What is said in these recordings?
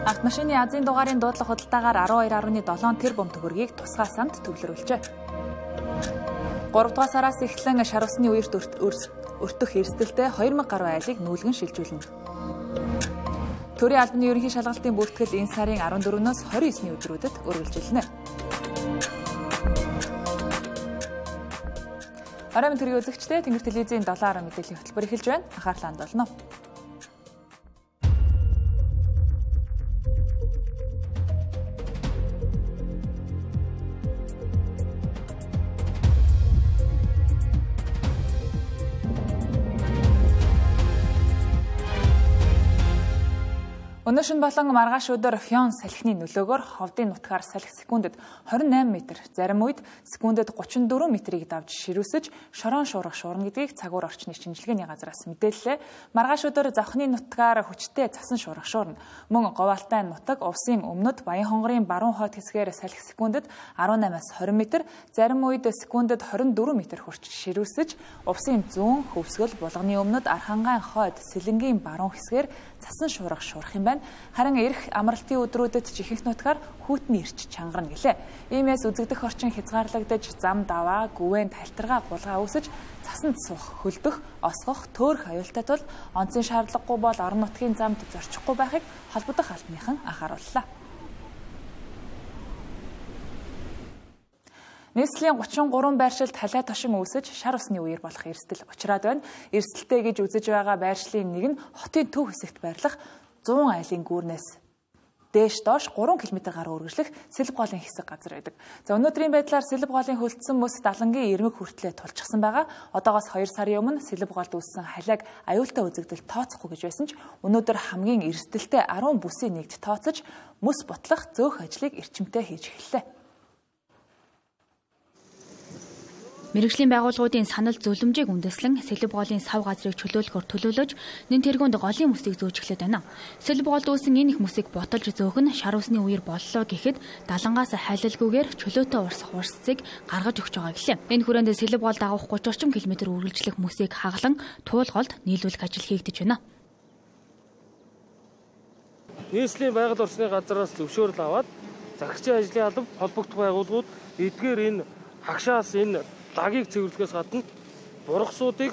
Автомашины Азийн дугаарын дуудлага худалдаагаар 12.7 тэрбум төгрөгийг тусгай самд төвлөрүүлжээ. 3 дугаар сараас эхлэн шар усны үерт өртөх эрсдэлтэй 2000 гаруй айлыг нүүлгэн шилжүүлнэ. Төрийн албаны ерөнхий шалгалтын бүртгэл энэ сарын 14-өөс 29-ний өдрүүдэд үргэлжилнэ. Оройн төрийн үзэгчдээ Тэнгэр телевизийн 7 мэдээллийн хөтөлбөр эхэлж байна. Анхаарлаа хандуулна. Өнөөшин болон маргааш өдөр Фён салхины нөлөөгөөр ховдын нутгаар салхи секундэд 28 м, зарим үед секундэд 34 м-ийг давж ширүүсэж шорон шуурах шуурна гэдгийг цагуур орчны шинжилгээний газраас мэдээллээ. Маргааш өдөр завхны нутгаар хүчтэй цасан шуурах шуурна. Мөн Говьалтай нутаг Увсын өмнөд Баян хонгорын баруун хойд хэсгээр салхи секундэд 18-аас 20 м, зарим үед секундэд 24 м хүрч ширүүсэж Увсын зүүн хөвсгөл Булганы өмнөд Архангайн хойд Сэлэнгийн баруун хэсгээр цасан шуурах юм байна. Харин ирэх амралтын өдрүүдэд жихэнх нутгаар хүйтний ирч чангарна гэлээ. Иймээс үзэгдэх орчин хязгаарлагдаж зам даваа, гүвэн талтаргаа гулгаа үүсэж цасанд суух, хөлдөх, осгох, төөрөх аюултай тул онцгийн шаардлагагүй бол орон нутгийн замд зорчихгүй байхыг холбогдох албаныхан анхаарууллаа. Нийслэлийн 33 байршилд халиа тошин үүсэж шар усны үер болох эрсдэл учраад байна. Эрсдэлтэй гэж үзэж байгаа байршлын нэг нь хотын төв хэсэгт байрлах 100 айлын гүүрнээс дээш доош 3 км гаруй үргэлжлэх Сэлб голын хэсэг газар байдаг. За өнөөдрийн байдлаар Сэлб голын хөлдсөн мөс Далангийн Ирмэг хүртлээр тулчихсан байгаа. Одоогоос 2 сарын өмнө Сэлб голд үүссэн халиаг аюултай үзэгдэл тооцохгүй гэж байсан ч өнөөдөр хамгийн эрсдэлтэй 10 бүсийн нэгт тооцож мөс бутлах зөөх ажлыг эрчимтэй хийж эхэллээ. Мэргэжлийн байгууллагуудын санал зөвлөмжийг үндэслэн Сэлб голын сав газрыг чөлөөлөхөөр төлөөлөж нэн тэргуунд голын мөсийг зөөж эхлэв байна. Сэлб голд үүсэн энэ их мөсийг ботолж зөөх нь шар усны үер боллоо гэхэд далангаас хайлалгүйгээр чөлөөтэй урсах урсцыг гаргаж өгч байгаа гэлээ. Энэ хүрээнд Сэлб голд агуулх 30 орчим км үргэлжлэх мөсийг хаглан туулголд нийлүүлэх ажил хийгдэж байна. Нийслэлийн байгаль орчны газраас зөвшөөрөл аваад захирчийн ажлын алба холбогдох байгууллагууд эдгээр энэ хагшаас энэ лагийг цэвэрлэхээс гадна бургасуудыг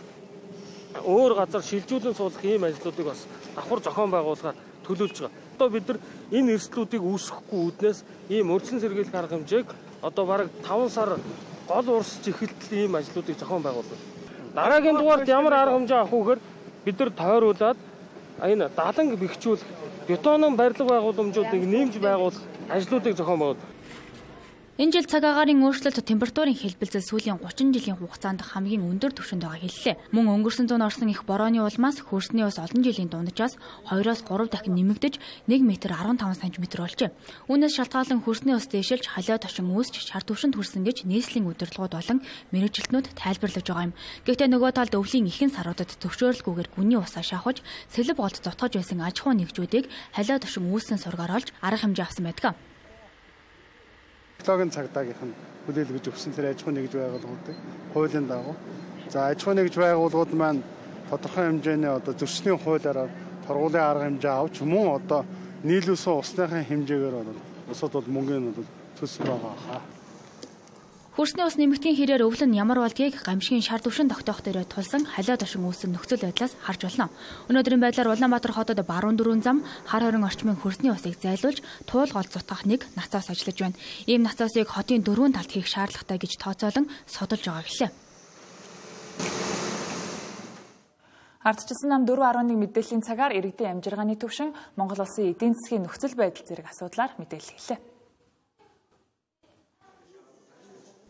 өөр газар шилжүүлэн суулгах ийм ажлуудыг бас давхар зохион байгуулахаар төлөвлөж байгаа. Одоо бид нар энэ эрсдлүүдийг үүсгэхгүй үүднээс ийм урьдчилан сэргийлэх арга хэмжээг одоо бараг 5 сар гол урсж эхэлтэл ийм ажлуудыг зохион байгуулдаг. Дараагийн дугаард ямар арга хэмжээ авах вэхээр бид нар тойруулаад энэ даланг бэхжүүлэх, бетонын барилга байгууламжуудыг нэмж байгуулах ажлуудыг зохион байгуулдаг. Энэ жил цаг агаарын өөрчлөлт температурын хэлбэлзэл сүүлийн 30 жилийн хугацаанд хамгийн өндөр түвшинд байгаа хэллээ. Мөн өнгөрсөн зуун орсон их борооны улмаас хөрсний ус олон жилийн дунджаас 2-оос 3 дахин нэмэгдэж 1 м 15 см болжээ. Үүнээс шалтгаалan хөрсний ус дээшилж халиа тошин үүсч шар түвшинд хүрсэн гэж нийслэлийн удирдлагууд болон мэргэжилтнүүд тайлбарлаж байгаа юм. Гэхдээ нөгөө талд өвлийн ихэнх саруудад зөвшөөрлгүйгээр гүний усаа шавхаж Сэлб голд зутгаж байсан аж ахуйн нэгжүүдийг халиа тошин үүссэн сургаар олж арга хэмжээ авсан байдаг. Технологийн цагдаагийнх нь хүлээлгэж өгсөн тэр аж ахуйн нэгж байгууллагуудыг хуулийн дагуу. За аж ахуйн нэгж байгууллагууд маань тодорхой хэмжээний одоо зөрчлийн хуулиараа торгуулийн арга хэмжээ авч мөн одоо нийлүүлсэн усныхын хэмжээгээр бол усад бол мөнгөний бол төсөв байгаа хаа. Хөрсний ус нэмэгдгийн хэрээр өвлөн ямар болдгийг гамшигын шар түвшин тогтоох дээрээ тулсан халиа тошин үүссэн нөхцөл байдлаас харж болно. Өнөөдрийн байдлаар Улаанбаатар хотод баруун дөрвөн зам хар хорин орчмын хөрсний усыг зайлуулж туулголд зутгах нэг нацаас ажиллаж байна. Ийм нацаасыг хотын дөрвөн талд хийх шаардлагатай гэж тооцоолон судалж байгаа гэлээ. Ардчилсан нам 4.1 мэдээллийн цагаар иргэдийн амжиргааны түвшин Монгол улсын эдийн засгийн нөхцөл байдал зэрэг асуудлаар мэдээлэл хэллээ.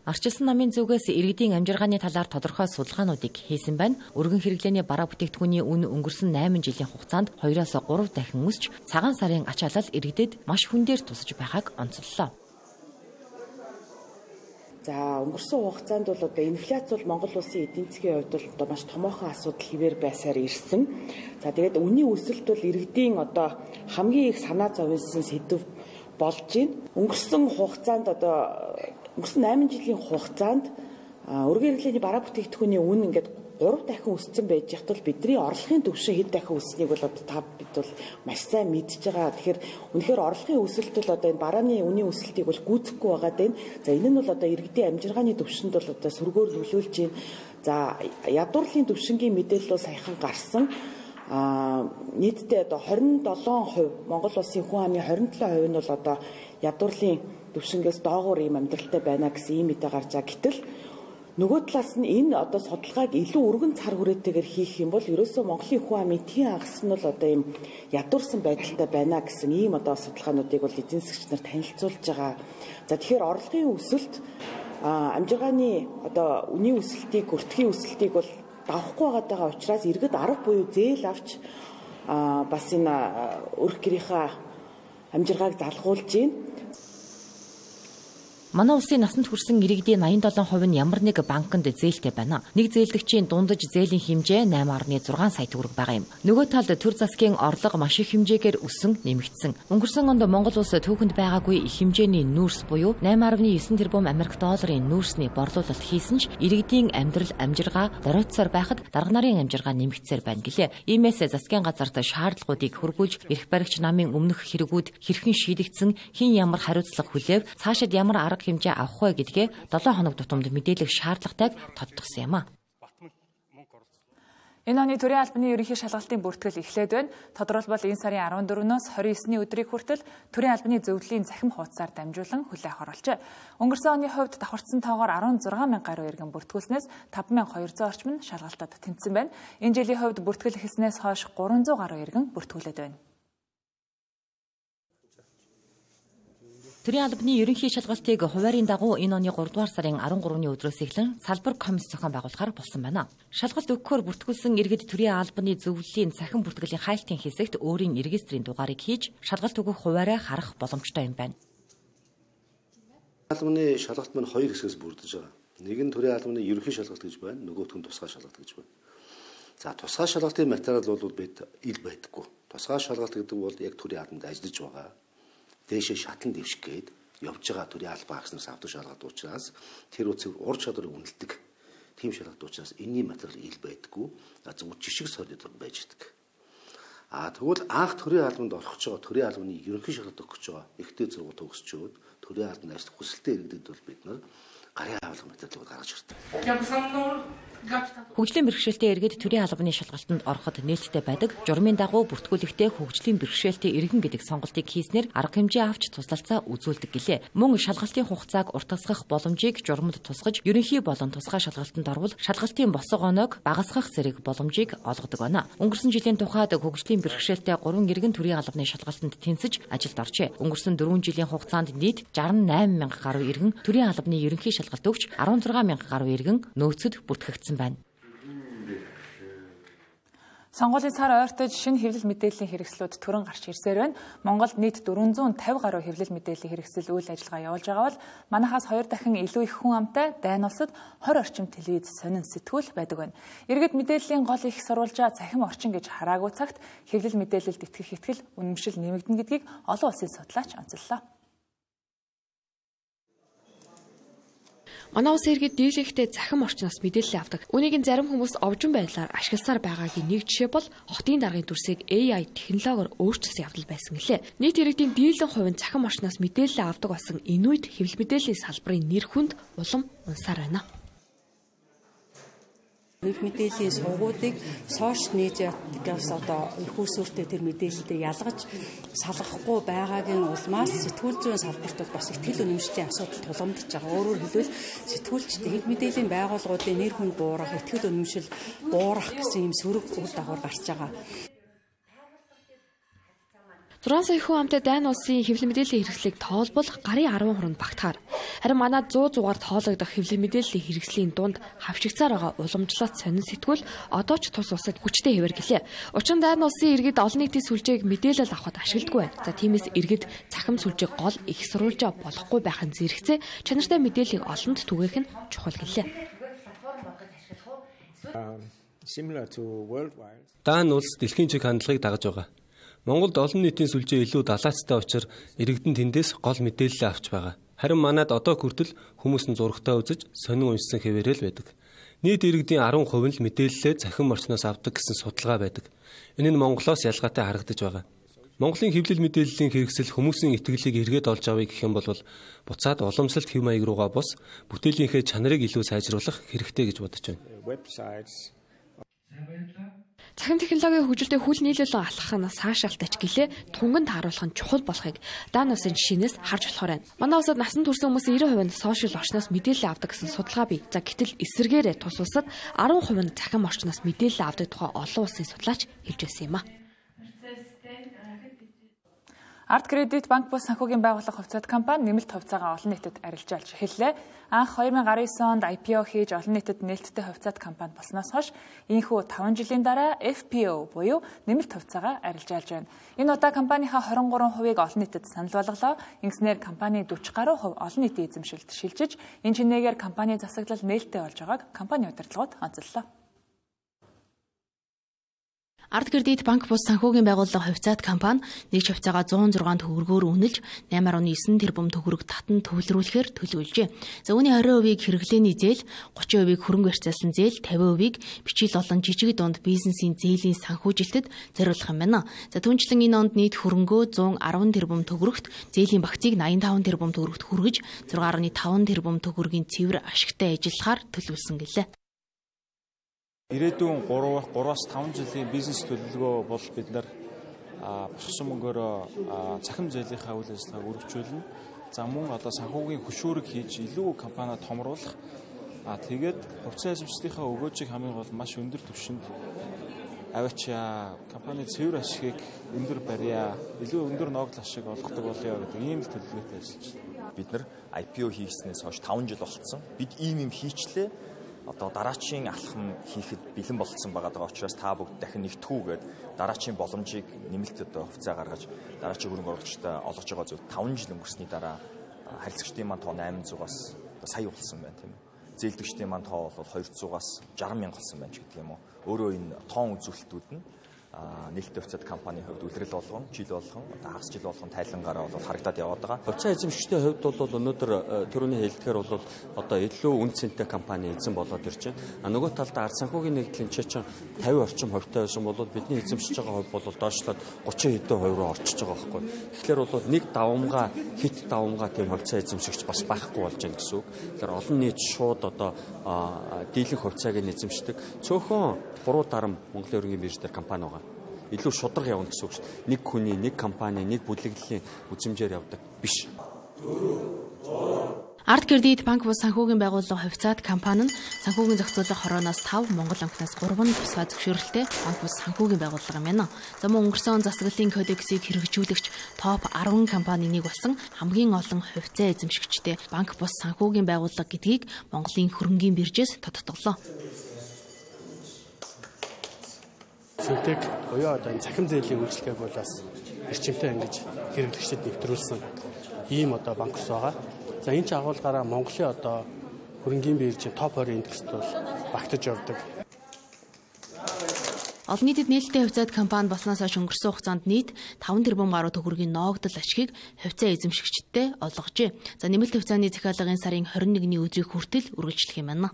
Ардчилсан намын зүгээс иргэдийн амжиргааны талаар тодорхой судалгаануудыг хийсэн байна. Өргөн хэрэглээний бараа бүтээгдэхүүний үн өнгөрсөн 8 жилийн хугацаанд 2-оос 3 дахин өсч цагаан сарын ач халал иргэдэд маш хүн дээр тусаж байгааг онцоллоо. За өнгөрсөн хугацаанд бол одоо инфляц бол Монгол улсын эдийн засгийн хувьд бол одоо маш томоохон асуудал хэвээр байсаар ирсэн. За тэгээд үнийн өсөлт бол иргэдийн одоо хамгийн их санаа зовсон сэдв болж байна. Өнгөрсөн 8 жилийн хугацаанд өргөн хэрэглээний бараа бүтээгдэхүүний үн ингээд 3 дахин өссөн байж хатвал бидний орлогын түвшин хэд дахин өсснийг бол одоо бид бол маш сайн мэдж байгаа. Тэгэхээр үнэхээр орлогын өсөлт бол одоо энэ барааны үнийн өсөлтийг бол гүйцэхгүй байгаа дээ. За энэ нь бол одоо иргэдийн амжиргааны түвшинд бол одоо сөргөөр нөлөөлж байна. За ядуурлын түвшингийн мэдээлэл бол саяхан гарсан. Нийтдээ одоо 27% Монгол улсын хүн амын 27% нь бол одоо ядуурлын түвшингээс доогуур ийм амьдралтай байна гэсэн ийм мэдээ гарч байгаа. Гэтэл нөгөө талаас нь энэ одоо судалгааг илүү өргөн цар хүрээтэйгээр хийх юм бол ерөөсөө Монголын хүн амын тийн агас нь бол одоо ийм ядуурсан байдалтай байна гэсэн ийм одоо судалгаануудыг бол эзэн засагч нар танилцуулж байгаа. За тэгэхээр орлогын өсөлт амжиргааны одоо үнийн өсөлтийг, өртгийн өсөлтийг бол давахгүй байгаа учраас иргэд арга буюу зээл авч бас энэ өрх гэрийнхаа амжиргааг залгуулж байна. Манай улсын насанд хүрсэн иргэдийн 87% нь ямар нэг банкнд зээлтэй байна. Нэг зээлдэгчийн дундаж зээлийн хэмжээ 8.6 сая төгрөг байгаа юм. Нөгөө талд төр засгийн орлого маш их хэмжээгээр өссөн, нэмэгдсэн. Өнгөрсөн онд Монгол улс түүхэнд байгаагүй их хэмжээний нүүрс буюу 8.9 тэрбум Америк долларын нүүрсний борлуулалт хийсэн ч иргэдийн амьдрал амжиргаа доройтсоор байхад дарга нарын амжиргаа нэмэгдсээр байна гэлээ. Иймээс засгийн газарт шаардлагуудыг хургуулж, эрх баригч намын өмнөх хэрэгүүд хэрхэн шийдэгдсэн, хэн ямар хариуцлага хүлээв, цаашид ямар арга хэмжээ авах вэ гэдгээ 7 хоног тутамд мэдээлэх шаардлагатайг тодтогсон юм а. Энэ оны төрийн албаны ерөнхий шалгалтын бүртгэл эхлээд байна. Тодорхойлбол энэ сарын 14-өөс 29-ний өдрийг хүртэл төрийн албаны зөвлөлийн захим хуудасаар дамжуулан хүлээх оруулжээ. Өнгөрсөн оны хувьд давхарцсан тоогоор 16,000 гаруй иргэн бүртгүүлснээс 5,200 орчим нь шалгалтад тэнцсэн байна. Энэ жилийн хувьд бүртгэл эхэлснээс хойш 300 гаруй иргэн бүртгүүлээд байна. Төрийн албаны ерөнхий шалгалтыг хуваарийн дагуу энэ оны 3 дугаар сарын 13-ны өдрөөс эхлэн салбар комисс зохион байгуулахаар болсон байна. Шалгалт өгөхөөр бүртгүүлсэн иргэд төрийн албаны зөвлөлийн цахим бүртгэлийн хайлтын хэсэгт өөрийн регистрийн дугаарыг хийж шалгалт өгөх хуваараа харах боломжтой юм байна. Албаны шалгалт маань 2 хэсгээс бүрдэж байгаа. Нэг нь төрийн албаны ерөнхий шалгалт гэж байна, нөгөөх нь тусгай шалгалт гэж байна. За тусгай шалгалтын материал бол бид ил байдаггүй. Тусгай шалгалт гэдэг бол яг төрийн албанд ажиллаж байгаа. Дээшээ шатлан дэвших гээд явж байгаа төрийн албан агснаас авдаг шалгалт учраас тэр үцэг ур чадварыг үнэлдэг. Тийм шалгалт учраас энэний материал ил байдаггүй. Зөвхөн жишг солиод байж идэг. Тэгвэл анх төрийн албанд орох гэж байгаа төрийн албаны ерөнхий шалгалт өгөх гэж байгаа ихтэй зургууд төгсчөөд төрийн албаны ажил хүсэлтэй иргэдэд бол бид нар гарын авалга материалыг гаргаж ирдэг. Хөгжлийн бэрхшээлтэй иргэд төрийн албаны шалгалтанд ороход нээлттэй байдаг. Журмын дагуу бүртгүүлэхдээ хөгжлийн бэрхшээлтэй иргэн гэдэг сонголтыг хийснээр арга хэмжээ авч туслалцаа үзүүлдэг гэлээ. Мөн шалгалтын хугацааг уртасгах боломжийг журманд тусгаж, ерөнхий болон тусгай шалгалтанд орвол шалгалтын босго оноог багасгах зэрэг боломжийг олгодог байна. Өнгөрсөн жилийн тухайд хөгжлийн бэрхшээлтэй 3 иргэн төрийн албаны шалгалтанд тэнцэж ажилд оржээ. Өнгөрсөн 4 жилийн хугацаанд нийт 68,000 гаруй иргэн төрийн албаны ерөнхий шалгалт өгч 16,000 гаруй иргэн нөөцөд бүртгэгдсэн байна. Сонгуулийн сар ойртож шинэ хэвлэл мэдээллийн хэрэгслүүд түрэн гарч ирсээр байна. Монголд нийт 450 гаруй хэвлэл мэдээллийн хэрэгсэл үйл ажиллагаа явуулж байгаа бол манайхаас 2 дахин илүү их хүн амтай дайн улсад 20 орчим телевиз сонин сэтгүүл байдаг байна. Иргэд мэдээллийн гол их сурвалжаа цахим орчин гэж хараагүй цагт хэвлэл мэдээлэлд итгэх итгэл үнэмшил нэмэгдэнэ гэдгийг олон улсын судлаач онцоллоо. Манай улсын иргэд дийлэнхтэй захим орчноос мэдээлэл авдаг. Үүнийг зарим хүмүүс овжин байдлаар ашигласаар байгаагийн нэг жишээ бол хотын даргын дүрсийг AI технологиор өөрчилсөн явдал байсан гэлээ. Нийт иргэдийн дийлэн хувийн захим орчноос мэдээлэл авдаг болсон энэ үед хэвлэл мэдээллийн салбарын нэр хүнд улам унсаар байна. Мэдээллийн сувгуудыг сошиал медиагаас одоо их усүртэй тэр мэдээлэлдээ ялгаж салгахгүй байгаагийн улмаас сэтгүүл зүйн салбарт бас ихтгэл үнэмшлийн асуудал тулгамдж байгаа. Өөрөөр хэлбэл сэтгүүлчдийн хэв мэдээллийн байгууллагуудын нэр хүнд буурах, ихтгэл үнэмшил буурах гэсэн юм сөрөг үр дагавар гарч байгаа. 6 сая хүн амтай дайн улсын хэвлэл мэдээллийн хэрэгслийг тоолбол гарын 10 хүрээнд багтахаар. Харин манай 100 зугаар тоологдох хэвлэл мэдээллийн хэрэгслийн дунд хавшигцаар байгаа уламжлалт сонин сэтгүүл одоо ч тус усад хүчтэй хэвээр гэлээ. Учир нь дайн улсын иргэд олон нийтийн сүлжээг мэдээлэл авахд ашигладаг байна. За тиймээс иргэд цахим сүлжээг гол их сурвалжаа болохгүй байхын зэрэгцээ чанартай мэдээллийг олонд түгээх нь чухал гэлээ. Дайн улс дэлхийн чиг хандлагыг дагаж байгаа. Монголд олон нийтийн сүлжээ илүү далаацтай учраас иргэдэн тэндээс гол мэдээлэл авч байгаа. Харин манайд одоо хүртэл хүмүүс нь зурагтаа үзэж сонин уншсан хэвээрэл байдаг. Нийт иргэдийн 10% нь л мэдээлэлээ цахим орчноос авдаг гэсэн судалгаа байдаг. Энэ нь Монголоос ялгаатай харагдаж байгаа. Монголын хэвлэл мэдээллийн хэрэгсэл хүмүүсийн итгэлийг эргээд олж авъя гэх юм бол буцаад уламжлалт хэв маяг руугаа бус бүтээлийнхээ чанарыг илүү сайжруулах хэрэгтэй гэж бодож байна. Цахим технологийн хөгжилтэй хүл нийлүүлэн алхах нь саашаалтайч гэлээ тунганд харуулах нь чухал болохыг даан усын жишээнээс харж болохоор байна. Манай улсад насан турш хүмүүсийн 90% нь сошиал орчноос мэдээлэл авдаг гэсэн судалгаа бий. За гэтэл эсвэргээрээ тус улсад 10% нь цахим орчноос мэдээлэл авдаг тухай олон улсын судлаач хэлж байсан юм а. Арт Кредит банк бус санхүүгийн байгууллага хувьцаат компани нэмэлт хувьцаагаа олон нийтэд арилжаалж эхэллээ. Анх 2019 онд IPO хийж олон нийтэд нээлттэй хувьцаат компани болсноос хойш ийхүү 5 жилийн дараа FPO буюу нэмэлт хувьцаагаа арилжаалж байна. Энэ удаа компанийнхаа 23%-ийг олон нийтэд санал болголоо. Ингэснээр компани 40 гаруй хувь олон нийтийн эзэмшилд шилжиж, энэ чинээгээр компани засаглал нээлттэй болж байгааг компани удирдлагууд онцоллоо. Арт Кредит банк бус санхүүгийн байгууллага хувьцаат компани нэгж хувьцаагаа 106 төгрөгөөр үнэлж 8.9 тэрбум төгрөг татан төвлөрүүлэхээр төлөвлөжээ. За үүний 20%-ийг хэрэглээний зээл, 30%-ийг хөрөнгө барьцаалсан зээл, 50%-ийг бичил болон жижиг дунд бизнесийн зээлийн санхүүжилтэд зориулах юм байна. За түүнчлэн энэ онд нийт хөрөнгөө 110 тэрбум төгрөгт, зээлийн багцыг 85 тэрбум төгрөгт хүргэж 6.5 тэрбум төгрөгийн цэвэр ашигтай ажиллахаар төлөвлөсөн гэлээ. Ирээдүйн 3-5 жилийн бизнес төлөвлөгөө бол бид нар босгосон мөнгөөр цахим зээлийнхаа үйл ажиллагааг өргөжүүлнэ. За мөн одоо санхүүгийн хөшүүрэг хийж илүү компаниа томруулах. Тэгээд хувьцаа эзэмшлийнхаа өгөөжийг хамгийн гол маш өндөр түвшинд аваачаа, компани цэвэр ашигыг өндөр барья, илүү өндөр ногдол ашиг олгодог болъё гэдэг ийм л төлөвлөгөөтэй ажиллаж байна. Бид нар IPO хийснээс хойш 5 жил болцсон. Бид ийм хийчлээ. Одоо дараачийн алхам хийхэд бэлэн болцсон байгаа учраас та бүгд дахин нэгтгэхүүгээд дараачийн боломжийг нэмэлт одоо хувьцаа гаргаж дараачийн хөрөнгө оруулагчтай олгож байгаа зүйл 5 жил өнгөрсний дараа харилцагчдын маань тоо 800-аас сая болсон байна тийм үү. Зээлдэгчдийн маань тоо бол 200-аас 60 мянга болсон байна ч гэдэг юм уу. Өөрөө энэ тоон үзүүлэлтүүд нь нээлттэй хувьцаат компанийн хувьд үлрэл болгон, жил болгон, хагас жил болгон тайлангаараа бол харагдаад яваад байгаа. Хувьцаа эзэмшигчдийн хувьд бол өнөөдөр төрөний хэлдгээр бол одоо илүү үн цэнтэй компани эзэн болоод ирж байна. Нөгөө талдаа ард санхүүгийн нэгдлийн чинь 50 орчим хувьтай байсан бол бидний эзэмшиж байгаа хувь бол доошлоод 30 хэдэн хувь руу орчиж байгаа байхгүй. Тэгэхээр бол нэг давамгаа хит давамгаа тийм хувьцаа эзэмшигч бас байхгүй болж байна гэсэн үг. Тэгэхээр олон нийт шууд одоо дийлэнх хувьцааг нь эзэмшдэг. Цөөхөн 3 дарам Монголын өргөний бирж дээр компани байгаа. Илүү шудраг явна гэсэн үг шүү дээ. Нэг хүний, нэг компани, нэг бүлэглэлийн үзмжээр явдаг биш. Арт Кредит банк бус санхүүгийн байгууллага хувьцаат компани нь санхүүгийн зохицуулах хорооноос 5, Монгол банкнаас 3 тусгай зөвшөөрөлтэй банк бус санхүүгийн байгууллага юм байна. За мөн өнгөрсөн засаглалын кодексийг хэрэгжүүлэгч топ 10 компани нэг болсон хамгийн олон хувьцаа эзэмшигчтэй банк бус санхүүгийн байгууллага гэдгийг Монголын хөрөнгийн биржээс тодтоглоо. Финтек буюу одоо цахим зээлийн үйлчилгээг бол бас эрчимтэй ингэж хэрэглэгчдэд нэвтрүүлсэн ийм одоо банк ус байгаа. За энэ ч агуулгаараа Монголын одоо хөрөнгийн биржийн топ 20 индекст бол багтаж явдаг. Олон нийтэд нээлттэй хувьцаат компани болсноос хойш өнгөрсөн хугацаанд нийт 5 тэрбум гаруй төгрөгийн ногдол ашигыг хувьцаа эзэмшигчдтэй олгожээ. За нэмэлт хувьцааны захиалгын сарын 21-ний өдрийг хүртэл үргэлжлэх юм байна.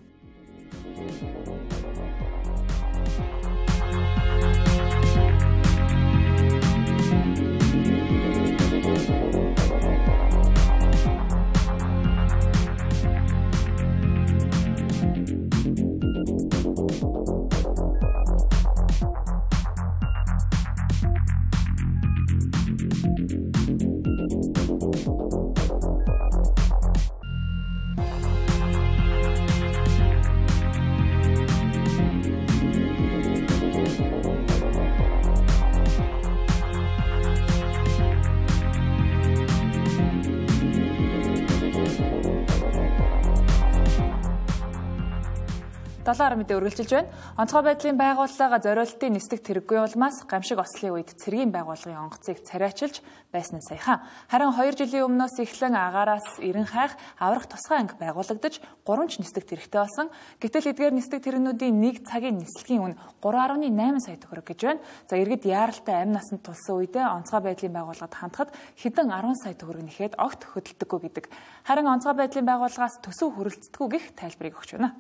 Долоор мэдээ үргэлжилж байна. Онцгой байдлын байгууллага зориултын нислэг тэрэггүй улмаас гамшиг ослын үед цэргийн байгууллагын онгоцыг царайчилж байсан нь саяхан. Харин 2 жилийн өмнөөс эхлэн агаараас 90 хайх аврах тусгай анги байгуулагдаж 3 ч нислэг тэрэгтэй болсон. Гэтэл эдгээр нислэг тэрэгнүүдийн нэг цагийн нислэгийн үн 3.8 сая төгрөг гэж байна. За иргэд яаралтай амь насанд тулсан үедээ онцгой байдлын байгууллагад хандхад хэдэн 10 сая төгрөг нэхэд огт хөдөлдөггүй гэдэг. Харин онцгой байдлын байгууллагаас төсөв хүрэлцдэггүй гэх тайлбарыг өгч байна.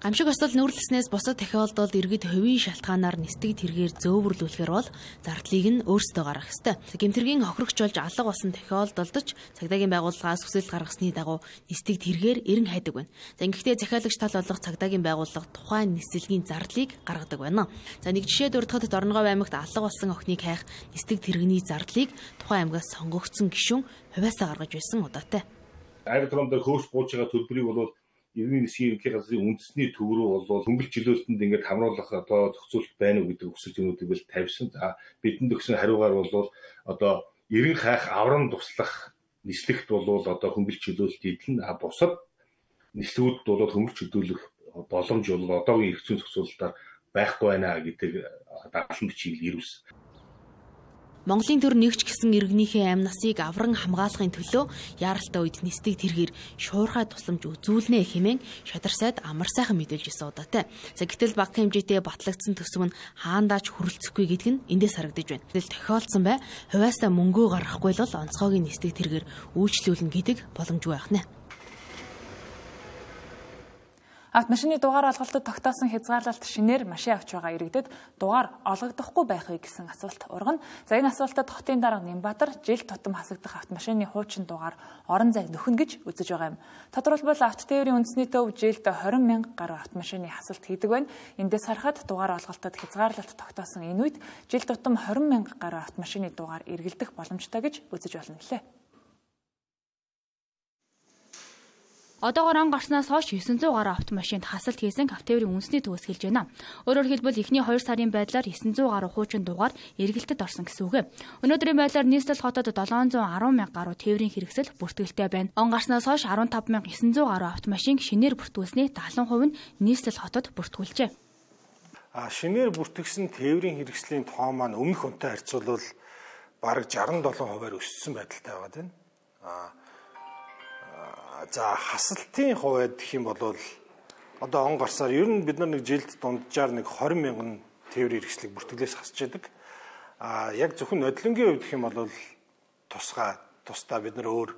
Гамшиг осол нүүрлснээс бусад тохиолдолд иргэд хувийн шалтгаанаар нисдэг тэргээр зөөвөрлүүлэхээр бол зардлыг нь өөрсдөө гаргах ёстой. Гэмтэргийн хохирогч болж алга болсон тохиолдолд ч цагдаагийн байгууллагаас хүсэл гаргасны дагуу нисдэг тэргээр эрен хайдаг байна. За ингэхдээ захиалагч тал болох цагдаагийн байгууллага тухайн нислэгийн зардлыг гаргадаг байна. За нэг жишээ дурдахад Дорногов аймагт алга болсон охиныг хайх нисдэг тэрэгний зардлыг тухайн аймгаас сонгогдсон гишүүн хувиасаа гаргаж байсан удаатай. Аэродром дээр хөөс бууж байгаа төлбөрийг бол Иргэний засгийн ерөнхий газрын үндэсний төв рүү бол хөнгөлөлт чөлөөлтөнд ингээд хамруулах одоо зохицуулалт байна уу гэдэг хүсэл зүйнүүдийг бол тавьсан. За бидэнд өгсөн хариугаар бол одоо эрен хайх аврам туслах нислэгт бол одоо хөнгөлөлт чөлөөлөлт эдэлнэ. Бусад нислэгүүд бол хөнгөлөлт чөлөөлөх боломж бол одоогийн эрх зүйн зохицуулалтаар байхгүй байна гэдэг дагалан бичгийг ирүүлсэн. Монголын төр нэгч гэсэн иргэнийхээ амь насыг авран хамгаалахын төлөө яаралтай үед нисдэг тэргээр шуурхай тусламж үзүүлнэ хэмээн шадар сайд амар сайхан мэдээлж ирсэн удаатай. За гэтэл баг хэмжээтэй батлагдсан төсөв нь хаандаач хүрэлцэхгүй гэдэг нь эндээс харагдаж байна. Гэтэл тохиолдсон бай хувиасаа мөнгөө гаргахгүй л онцгойгийн нисдэг тэргээр үйлчлүүлнэ гэдэг боломжгүй байх нэ. Автомашины дугаар олголтод тогтоосон хязгаарлалт шинээр машин авч байгаа иргэдэд дугаар олгогдохгүй байх вэ гэсэн асуулт ургана. За энэ асуултад хотын дарга Нямбатар жил тутам хасагдах автомашины хуучин дугаар орон зайг нөхнө гэж үзэж байгаа юм. Тодорхойлбол автотээврийн үндэсний төв жилд 20,000 гаруй автомашины хасалт хийдэг байна. Эндээс харахад дугаар олголтод хязгаарлалт тогтоосон энэ үед жил тутам 20,000 гаруй автомашины дугаар эргэлдэх боломжтой гэж үзэж болно гэлээ. Одоогоор он гарснаас хойш 900 гаруй автомашинд хасалт хийсэн автотээврийн үндэсний төвөөс хэлж байна. Өөрөөр хэлбэл эхний 2 сарын байдлаар 900 гаруй хуучин дугаар эргэлтэд орсон гэсэн үг. Өнөөдрийн байдлаар нийслэл хотод 710,000 гаруй тээврийн хэрэгсэл бүртгэлтэй байна. Он гарснаас хойш 15,900 гаруй автомашин шинээр бүртгүүлсний 70% нь нийслэл хотод бүртгүүлжээ. Шинээр бүртгэсэн тээврийн хэрэгслийн тоо маань өмнөх үнэтэй харьцуулбал бараг 67%-аар өссөн байдалтай байгаа тийм. За хасалтын хувьд гэх юм бол одоо он гарсаар ер нь бид нар нэг жилд дунджаар нэг 20,000 тээврийн хэрэгслийг бүртгэлээс хасч яадаг. Яг зөвхөн нодлонгийн хувьд гэх юм бол тусдаа бид нар өөр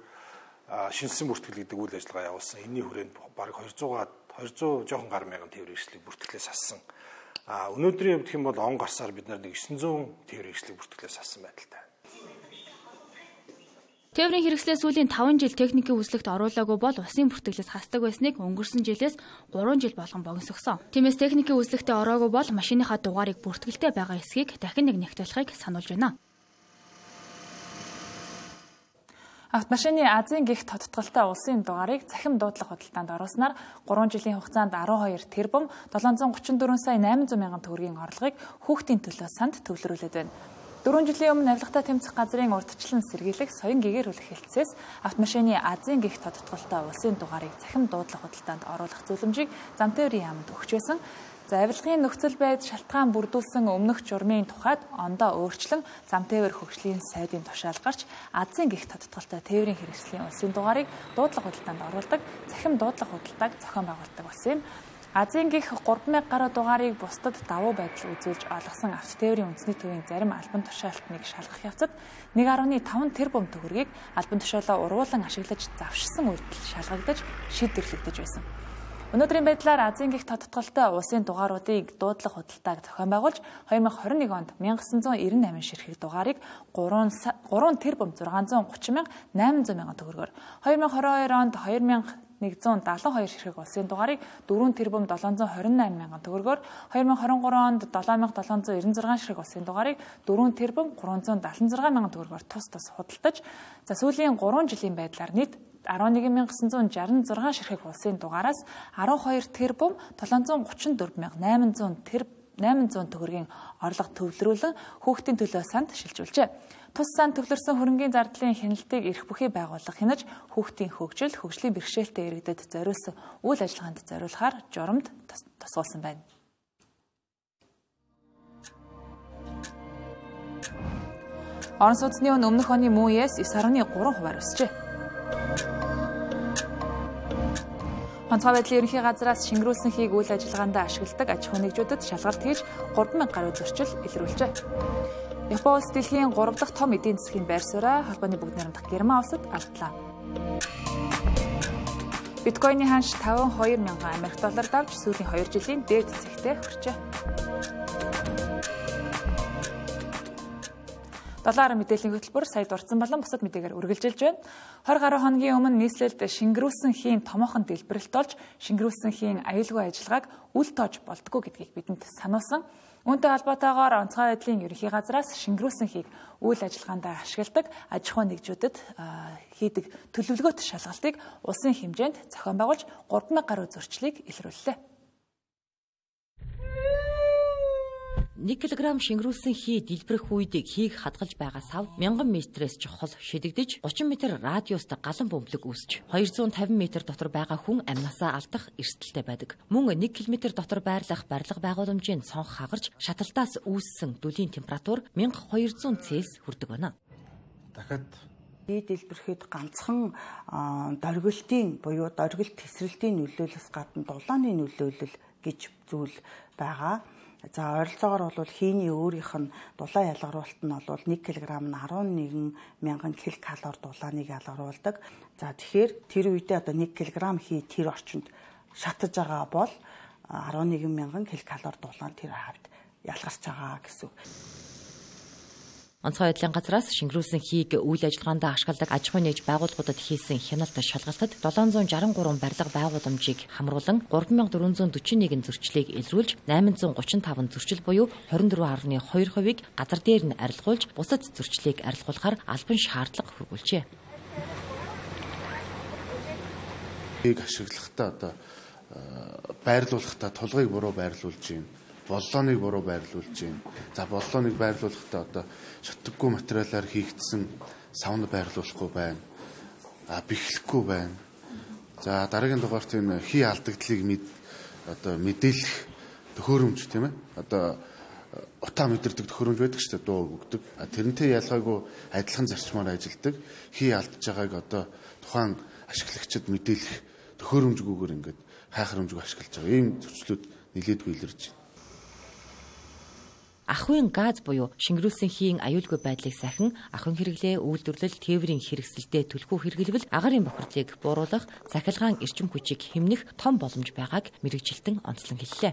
шинжсэн бүртгэл гэдэг үйл ажиллагаа явуулсан. Энэний хүрээнд бараг 200 жоохон гар мянган тээврийн хэрэгслийг бүртгэлээс хассан. Өнөөдрийн хувьд гэх юм бол он гарсаар бид нар нэг 900 тээврийн хэрэгслийг бүртгэлээс хассан байдалтай. Тээврийн хэрэгслээ сүүлийн 5 жил техникийн үзлэгт оруулаагүй бол усын бүртгэлээс хасдаг байсныг өнгөрсөн жилээс 3 жил болгон богиносгосон. Тиймээс техникийн үзлэгтээ ороогүй бол машиныхаа дугаарыг бүртгэлтэй байгаа эсхийг дахин нэг нягтлахыг сануулж байна. Автомашины Азийн гихт тодтголтой улсын дугаарыг цахим дуудлага худалдаанд оруулснаар 3 жилийн хугацаанд 12 тэрбум 734 сая 800 мянган төгрөгийн орлогыг хүүхдийн төлөө санд төвлөрүүлээд байна. 4 жилийн өмнө авилгатай тэмцэх газрын урьдчилан сэргийлэх соён гэгэрүүлэх хэлтсээс автомашины Азийн гихт тодтголтой улсын дугаарыг цахим дуудлага худалдаанд оруулах зөвлөмжийг Замтээврийн яамд өгч байсан. За авилгын нөхцөл байдал шалтгаан бүрдүүлсэн өмнөх журмын тухайд ондоо өөрчлөн Замтээвэр хөгжлийн сайдын тушаал гарч Азийн гихт тодтголтой тээврийн хэрэгслийн улсын дугаарыг дуудлага худалдаанд оруулдаг цахим дуудлага худалдааг зохион байгуулдаг болсон юм. Азийн гих 3,000 гаруй дугаарыг бусдад давуу байдал үзүүлж олгосон автотээврийн үндэсний төвийн зарим албан тушаалтныг шалгах явцад 1.5 тэрбум төгрөгийг албан тушаалаа ургуулan ашиглаж завшсан үйлдэл шалгагдаж шийдвэрлэгдэж байсан. Өнөөдрийн байдлаар Азийн гих тодтголтой улсын дугааруудыг дуудлага худалдааг зохион байгуулж 2021 онд 1998 ширхэг дугаарыг 3 тэрбум 630 мянга 800 мянган төгрөгөөр 2022 онд 2172 ширхэг улсын дугаарыг 4 тэрбум 728 мянган төгрөгөөр 2023 онд 7796 ширхэг улсын дугаарыг 4 тэрбум 376 мянган төгрөгөөр тус худалдаж за сүүлийн 3 жилийн байдлаар нийт 11,966 ширхэг улсын дугаараас 12 тэрбум 734,800 төгрөгийн орлого төвлөрүүлэн хүүхдийн төлөө санд шилжүүлжээ. Тус санд төвлөрсөн хөрөнгөний зардлын хяналтыг эрх бүхий байгууллага хянаж хүүхдийн хөгжил, хөгжлийн бэрхшээлтэй иргэдэд зориулсан үйл ажиллагаанд зориулахаар журамд тусгуулсан байна. Орон сууцны үн өмнөх оны мөн үеэс 9.3% өсжээ. Онцгой байдлын ерөнхий газраас шингэрүүлсэн хийг үйл ажиллагаанд ашигладаг аж ахуй нэгжүүдэд шалгалт хийж 3,000 гаруй зөрчил илрүүлжээ. Япон улс дэлхийн 3 дахь том эдийн засгийн байр сууриа холбооны бүгд найрамдах Герман улсад алдлаа. Биткойны ханш 52 мянган Америк доллар давж сүүлийн 2 жилийн дээд зэгтээ хүрчээ. Долларын мэдээллийн хөтөлбөр сая дурдсан болон бусад мэдээгээр үргэлжилж байна. 20 гаруй хоногийн өмнө нийслэлд шингэрүүлсэн хийн томоохон дэлбэрэлт олж, шингэрүүлсэн хийн аюулгүй ажиллагааг үл тоож болдгоо гэдгийг бидэнд сануулсан. Үүнтэй холбоотойгоор онцгой байдлын ерөнхий газраас шингэрүүлсэн хийг үйл ажиллагаанд ашигладаг аж ахуйн нэгжүүдэд хийдэг төлөвлөгөөт шалгалтыг улсын хэмжээнд зохион байгуулж 3,000 гаруй зөрчлийг илрүүллээ. 1 кг шингэрүүлсэн хий дэлбэрэх үед хийг хадгалж байгаа сав 1000 метрээс чухал шидэгдэж 30 м радиустай галан бөмбөлөг үүсч 250 м дотор байгаа хүн амнасаа алдах эрсдэлтэй байдаг. Мөн 1 км дотор байрлах барилга байгууламжийн цонх хагарч шаталтаас үүссэн дүлийн температур 1200 Цельс хүрдэг байна. Дахиад хий дэлбэрэхэд ганцхан дөргөлтийн буюу дөргөлт тесрэлтийн нөлөөлөлс гадна дулааны нөлөөлөл гэж зүйл байгаа. За ойролцоогоор бол хийний өөрийнх нь дулаан ялгаруулалт нь бол 1 кг нь 11 мянган ккал дулааныг ялгаруулдаг. За тэгэхээр тэр үедээ одоо 1 кг хий тэр орчинд шатаж байгаа бол 11 мянган ккал дулаан тэр хавьд ялгарч байгаа гэсэн. Онцгой байдлын газраас шингэрүүлсэн хийг үйл ажиллагаанд ашигладаг аж ахуйн нэгж байгууллагуудад хийсэн хяналт шалгалтад 763 барилга байгууламжийг хамруулан 3441 зөрчлийг илрүүлж 835 зөрчил буюу 24.2%-ийг газар дээр нь арилгуулж бусад зөрчлийг арилгуулахаар албан шаардлага хүргүүлжээ. Хийг ашиглахдаа одоо байрлуулахдаа тулгыг буруу байрлуулж байна. Боллооныг буруу байрлуулж байна. За боллооныг байрлуулахдаа одоо шатдаггүй материалаар хийгдсэн савн байрлуулахгүй байна. Бэхлэхгүй байна. За дараагийн дугаарт энэ хий алдагдлыг одоо мэдээлэх төхөөрөмж тийм ээ. Одоо утаа мэдэрдэг төхөөрөмж байдаг шүү дээ, дуу өгдөг. Тэрнтэй ялгаагүй адилхан зарчмаар ажилладаг. Хий алдж байгааг одоо тухайн ашиглагчид мэдээлэх төхөөрөмжгүйгээр ингээд хайхрамжгүй ашиглаж байгаа. Ийм зөрчлүүд нэлээдгүй илэрж байна. Ахуйн газ буюу шингэрүүлсэн хийн аюулгүй байдлыг сахин ахуйн хэрэглээ, үйлдвэрлэл, тээврийн хэрэгсэлтэд түлхүү хэрэглэвэл агарын бохирдлыг бууруулах, цахилгаан эрчим хүчийг хэмнэх том боломж байгааг мэргэжилтэн онцлон хэллээ.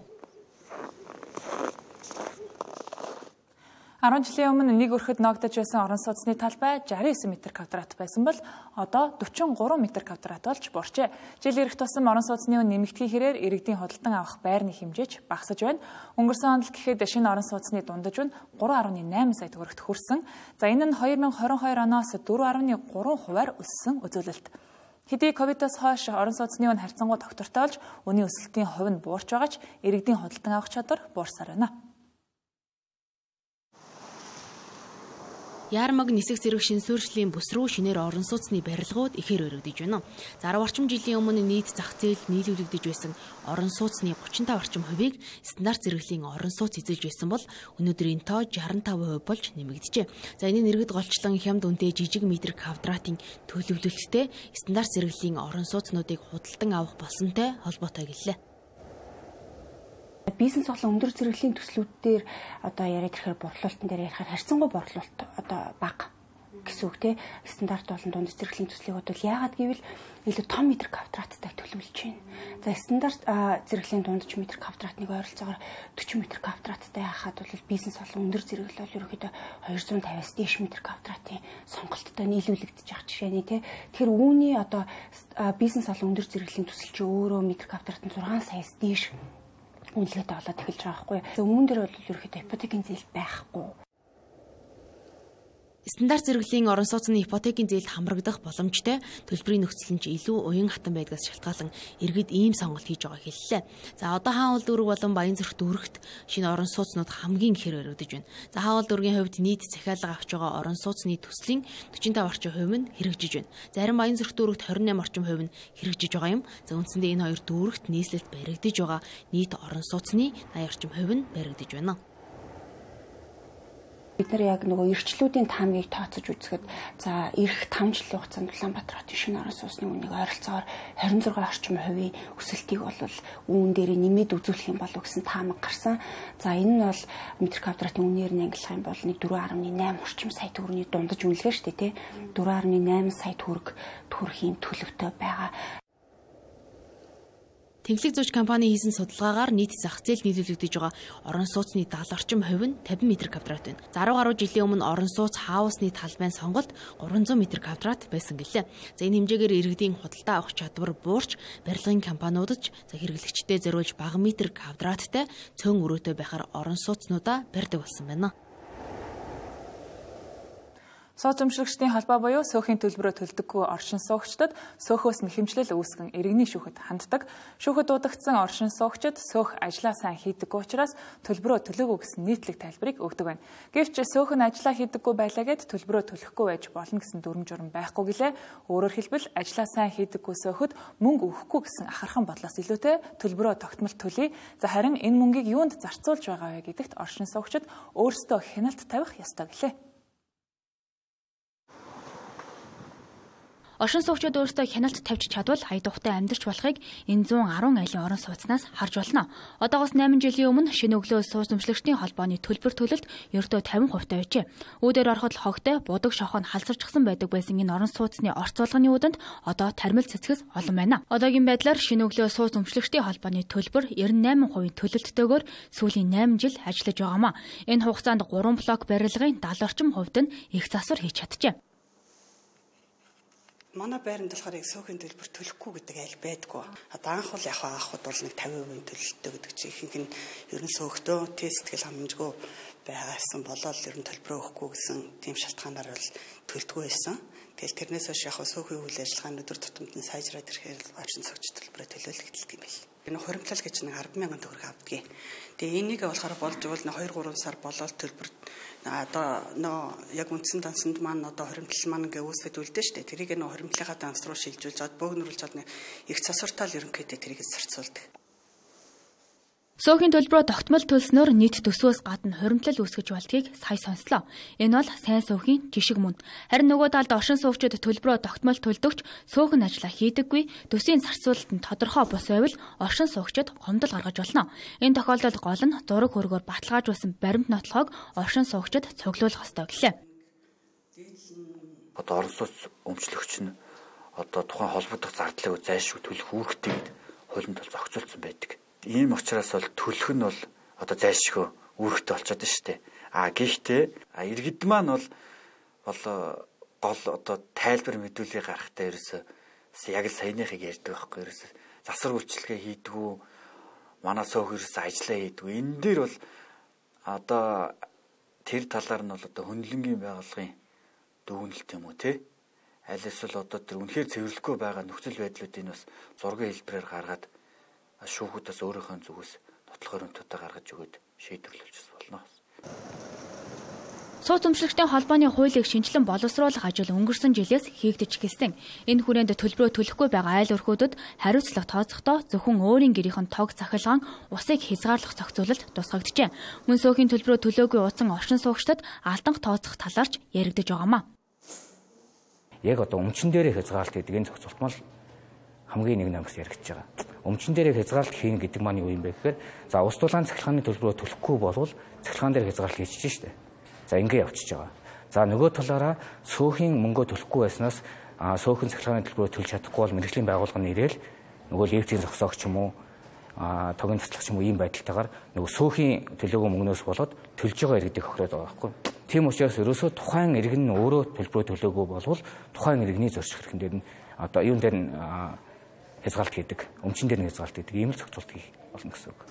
10 жилийн өмнө нэг өрхөд ногдож байсан орон сууцны талбай 69 м2 байсан бол одоо 43 м2 болж буурчээ. Жил ирэх тусам орон сууцны үн нэмэгдэхин хэрээр иргэдийн худалдан авах байрны хэмжээж багасж байна. Өнгөрсөн онд гэхэд шинэ орон сууцны дундаж үн 3.8 сая төгрөгт хүрсэн. За энэ нь 2022 оноос 4.3%-аар өссөн үзүүлэлт. Хэдий ковидоос хойш орон сууцны үн харьцангуй тогтвортой болж үнийн өсөлтийн хувь нь буурч байгаа ч иргэдийн худалдан авах чадвар буурсаар байна. Яармаг нисэх зэрэг шин суурьшлийн бүс рүү шинээр орон сууцны барилгууд ихээр өргөдөж байна. За 10 орчим жилийн өмнө нийт зах зээл нийлүүлэгдэж байсан орон сууцны 35 орчим хувийг стандарт зэрэглэлийн орон сууц эзэлж байсан бол өнөөдөр энэ тоо 65% болж нэмэгдэжээ. За энэ нэргэд голчлон хямд үнэтэй жижиг метр квадратын төлөвлөлттэй стандарт зэрэглэлийн орон сууцнуудыг худалдан авах болсонтой холбоотой гэлээ. Бизнес болон өндөр зэрэглэлийн төслүүд дээр одоо яриад ирэхээр борлуулалтын дээр ярихаар харьцангуй борлуулалт одоо бага гэсэн үг те стандарт болон дунд зэрэглэлийн төслийг бодвол яагаад гэвэл илүү том метр квадраттай төлөвлөж байна. За стандарт зэрэглэлийн дундч метр квадратныг ойролцоогоор 40 метр квадраттай хахад бол бизнес болон өндөр зэрэглэл бол ерөөхдөө 250-аас дээш метр квадратын сонголттой нийлүүлэгдэж байгаа жишээний те. Тэгэхээр үүний одоо бизнес болон өндөр зэрэглэлийн төсөл чи өөрөө метр квадрат нь 6 саяас дээш үнэлгээтэй болоод эхэлж байгаа байхгүй. Өмнө дээр бол ерөөхдөө ипотекийн зээл байхгүй. Стандарт зэрэглэлийн орон сууцны ипотекийн зээлд хамрагдах боломжтой төлбөрийн нөхцөл нь илүү уян хатан байдгаас шалтгаалan иргэд ийм сонголт хийж байгааг хэллээ. За одоо хаавал дүүрэг болон Баянзүрх дүүрэгт шинэ орон сууцнууд хамгийн ихээр өргөдөж байна. За хаавал дүүргийн хувьд нийт захиалга авч байгаа орон сууцны төслийн 45 орчим хувь нь хэрэгжиж байна. Зарим Баянзүрх дүүрэгт 28 орчим хувь нь хэрэгжиж байгаа юм. За үндсэндээ энэ хоёр дүүрэгт нийслэлд баригдаж байгаа нийт орон сууцны 80 орчим хувь нь баригдаж байна. Бид нар яг нөгөө эрчлүүдийн таамгийг тооцож үзэхэд за эх 5 жилийн хугацаанд Улаанбаатар хотын шинэ орон сууцны үнийг ойролцоогоор 26 орчим хувийн өсөлтийг бол үүн дээр нэмээд үзүүлэх юм болов гэсэн таамаг гарсан. За энэ нь бол метр квадратын үнээр нь ангилах юм бол 4.8 орчим сая төгрөгийн дундаж үнэлгээ шүү дээ тий. 4.8 сая төгрөг төрөхийн төлөвтэй байгаа. Тэнхлэг зууч компани хийсэн судалгаагаар нийт зах зээл нийлүүлэгдэж байгаа орон сууцны 70 орчим хувь нь 50 м2 байна. За 10 гаруй жилийн өмнө орон сууц хаусны талбайн сонголт 300 м2 байсан гэлээ. За энэ хэмжээгээр иргэдийн худалдаа авах чадвар буурч барилгын компаниудад хэрэглэгчдэд зориулж бага метр квадраттай цөөн өрөөтэй байхаар орон сууцнуудаа барьдаг болсон байна. Сууц өмчлөгчдийн холбоо буюу сөөхийн төлбөрөөр төлдөггүй оршин суугчдад сөөхөөс нь хэмжлэл үүсгэн иргэний шүүхэд ханддаг. Шүүхэд дуудагдсан оршин суугчид сөөх ажлаа сайн хийдэггүй учраас төлбөрөө төлөөгүй гэсэн нийтлэг тайлбарыг өгдөг байна. Гэвч сөөх нь ажлаа хийдэггүй байлаа гэд төлбөрөө төлөхгүй байж болно гэсэн дүрм журм байхгүй гэлээ. Өөрөөр хэлбэл ажлаа сайн хийдэггүй сөөхөд мөнгө өгөхгүй гэсэн ахархан бодлоос илүүтэй төлбөрөө тогтмол төлье. За харин энэ мөнгийг юунд зарцуулж байгаа вэ гэдэгт оршин суугчид өөрсдөө хяналт тавих ёстой гэлээ. Оршин суугчид өөрсдөө хяналт тавьж чадвал хай тухтай амьдарч болохыг энэ 110 айлын орон сууцнаас харж болно. Одоогоос 8 жилийн өмнө шинэ өглөө сууц өмчлөгчдийн холбооны төлбөр төлөлт ердөө 50% байжээ. Үүдээр ороход хогтой будаг шохоо халсарчсан байдаг байсан энэ орон сууцны орцуулганы үүдэнд одоо тармил цэцгэс олон байна. Одоогийн байдлаар шинэ өглөө сууц өмчлөгчдийн холбооны төлбөр 98% төлөлттөөр сүүлийн 8 жил ажиллаж байгаамаа. Энэ хугацаанд 3 блок барилгын 70 орчим хувьд нь их засвар хийж чаджээ. Манай байранд болохоор яг сөөхөн төлбөр төлөхгүй гэдэг айл байдгүй. Одоо анх бол яг анхуд бол нэг 50% төлөлтөө гэдэг чинь ихэнх нь ер нь сөөхтөө тестгэл хангамжгүй байгаарсан болоод ер нь төлбөрөө өгөхгүй гэсэн тийм шалтгаанаар бол төлдөггүй байсан. Тэгэл тэрнээс хойш яг сөөхөн үйл ажиллагааны өдөр тутамд нь сайжраад ирэхээр оршин суугч төлбөрөө төлөөлөгдөлт юм байна. Энэ хуримтлал гэж нэг 10,000 төгрөг авдгийг. Тэгээ энийг болохоор болж бол 2-3 сар болоод төлбөр одоо яг үндсэн дансанд маань одоо хуримтлал маань ингээ үүсвэд үлдэн штэ. Тэрийг нөө хуримтлалынхаа данс руу шилжүүлж аваад бөөгнөрүүлж аваад их засвартаал ерөнхийдөө тэрийг зарцуулдаг. Сөөхийн төлбөрөө тогтмол төлснөөр нийт төсвөөс гадна хуримтлал үүсгэж болдгийг сая сонслоо. Энэ бол сайн сөөхийн жишг мөн. Харин нөгөө талд оршин суугчид төлбөрөө тогтмол төлдөгч сөөхөн ажиллаа хийдэггүй, төсвийн зарцуулалт нь тодорхой бус байвал оршин суугчид гомдол гаргаж болно. Энэ тохиолдолд гол нь зураг хөргөөр баталгаажуулсан баримт нотлохыг оршин суугчид цуглуулах ёстой гэлээ. Одоо орон сууц өмчлөгч нь одоо тухайн холбогдох зардлыг зайлшгүй төлөх үүрэгтэй гэд хуулинд бол зохицуулсан байдаг. Ийм учраас бол төлөх нь бол одоо зайлшгүй үүрэгтэй болчиход шүү дээ. Гэхдээ иргэд маань бол гол одоо тайлбар мэдүүлгийг гаргахтаа ерөөсөө яг л саяныхыг ярьдаг байхгүй ерөөсөө засвар үйлчилгээ хийдгүү манай сөөх ерөөсөө ажиллаа хийдгүү. Энэ дээр бол одоо тэр талаар нь бол одоо хөндлөнгийн байгууллагын дүгнэлт юм уу те? Аль эсвэл одоо тэр үнэхээр цэвэрлэхгүй байгаа нөхцөл байдлуудыг бас зургийн хэлбэрээр гаргаад шүүхүүдээс өөрийнхөө зүгээс нотлох өрөмтөдөө гаргаж өгөөд шийдвэрлэж болно. Сууц өмчлөгчдийн холбооны хуулийг шинжилэн боловсруулах ажил өнгөрсөн жилээс хийгдэж эхэлсэн. Энэ хүрээнд төлбөрөө төлөхгүй байгаа айл өрхөөдөд хариуцлага тооцохдоо зөвхөн өөрийн гэрийнхэн тог цахилгаан усыг хязгаарлах зохицуулалт тусгагджээ. Мөн сөөхийн төлбөрөө төлөөгүй утсан оршин суугчдад алданх тооцох талаарч яригдж байгаамаа. Яг одоо өмчин дээрээ хязгаарлалт гэдэг энэ зохицуулт мал хамгийн нэг намгс яригдж байгаа. Өмчин дээрээ хязгаарлалт хийн гэдэг маань юу юм бэ гэхээр за ус дулаан цахилгааны төлбөрөө төлөхгүй болвол цахилгаан дээр хязгаарлалт хийчихэж штэ. За ингэ явчихж байгаа. За нөгөө талаараа сөөхийн мөнгөө төлөхгүй байснаас сөөхөн цахилгааны төлбөрөө төлж чадахгүй бол мэргэжлийн байгууллага нь ирээл нөгөө лифтийн зогсоогч юм уу тогийн таслагч юм уу ийм байдалтайгаар нөгөө сөөхийн төлөөгүй мөнгнөөс болоод төлж байгаа иргэдийг хохироод байгаа байхгүй. Тийм учраас ерөөсөө тухайн иргэн нь өөрөө төлбөрөө төлөөгүй болвол тухайн иргэний зорчих хэрхэн дээр нь одоо юун дээр нь хязгаалт хийдэг, өмчин дээр нь хязгаалт хийдэг, ийм л зохицуулт хийх болно гэсэн үг.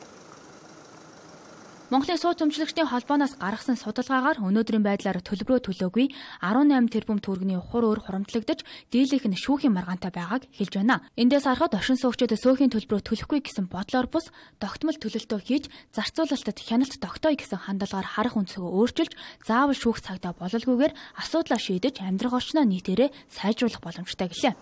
Монголын сууц өмчлөгчдийн холбооноос гаргасан судалгаагаар өнөөдрийн байдлаар төлбөрөө төлөөгүй 18 тэрбум төгрөгийн хур өөр хурамтлагдаж дийлийнх нь шүүхийн маргаантай байгааг хэлж байна. Эндээс харахад оршин суугчид сөөхийн төлбөрөө төлөхгүй гэсэн бодлоор бус тогтмол төлөлтөө хийж зарцуулалтад хяналт тогтооё гэсэн хандлагаар харах үндсээ өөрчилж заавал шүүх цагдаа бололгүйгээр асуудлаа шийдэж амьдрах орчноо нийтээрээ сайжруулах боломжтой гэлээ.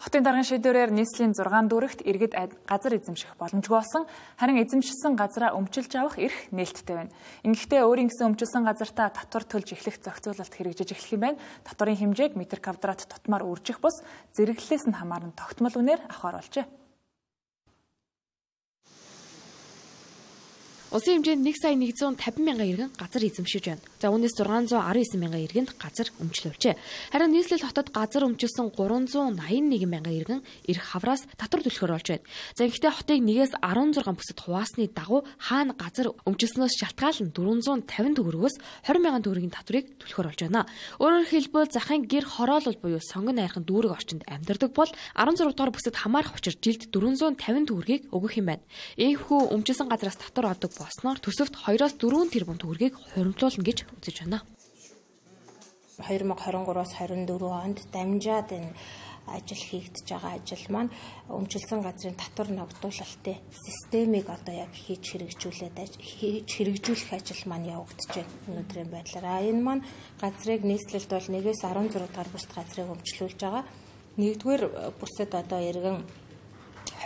Хотын даргын шийдвэрээр нийслэлийн 6 дүүрэгт иргэд газар эзэмших боломжгүй болсон. Харин эзэмшсэн газраа өмчилж авах эрх нээлттэй байна. Ингэхдээ өөрийн гэсэн өмчилсөн газартаа татвар төлж эхлэх зохицуулалт хэрэгжиж эхлэх юм байна. Татварын хэмжээг метр квадрат тутмаар үржих бус зэрэглэлээс нь хамааран тогтмол үнээр авахар болжээ. Улсын хэмжээнд 1,150,000 иргэн газар эзэмшиж байна. За үүнээс 619,000 иргэнд газар өмчлөвчээ. Харин нийслэл хотод газар өмчилсөн 381,000 иргэн эрх хавраас татвар төлөхөөр болж байна. За гэхдээ хотыг 1-ээс 16 бүсэд хуваасны дагуу хаана газар өмчилснөөс шалтгаалan 450 төгрөгөөс 20,000 төгрөгийн татварыг төлөхөөр болж байна. Өөрөөр хэлбэл захын гэр хороолол буюу сонгон найрхан дүүрэг орчинд амьдардаг бол 16 дугаар бүсэд хамаарах учир жилд 450 төгрөгийг өгөх юм байна. Ийхүү өмчилсөн газраас татвар авдаг болсноор төсөвт 2-4 тэрбум төгрөгийг хуримтлуулна гэж үзэж байна. 2023-аас 24 онд дамжаад энэ ажил хийгдэж байгаа ажил маань өмчилсөн газрын татвар ногдуулалтын системийг одоо яг хийж хэрэгжүүлэх ажил маань явагдаж байна өнөөдрийн байдлаар. Энэ маань газрыг нийслэлд бол 1-ээс 16 дугаар бүсд газрыг өмчлүүлж байгаа. 1-р бүсэд одоо иргэн